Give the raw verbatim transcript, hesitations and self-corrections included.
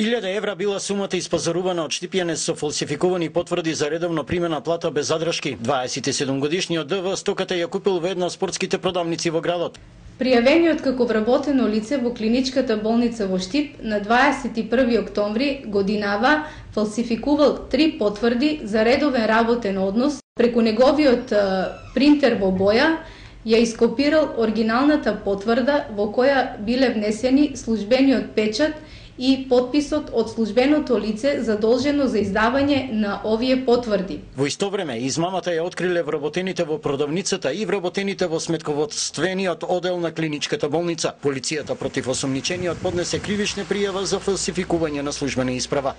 илјада евра била сумата испазарувана од Штипјанец со фалсификувани потврди за редовно примена плата без задршки. дваесет и седум годишниот Д В стоката ја купил во една од спортските продавници во градот. Пријавениот како вработено лице во клиничката болница во Штип на дваесет и први октомври годинава фалсификувал три потврди за редовен работен однос. Преку неговиот принтер во боја ја ископирал оригиналната потврда во која биле внесени службениот печат и подписот од службеното лице задолжено за издавање на овие потврди. Во исто време, измамата ја откриле вработените во продавницата и вработените во сметководствениот одел на клиничката болница. Полицијата против осомничениот поднесе кривична пријава за фалсификување на службена исправа.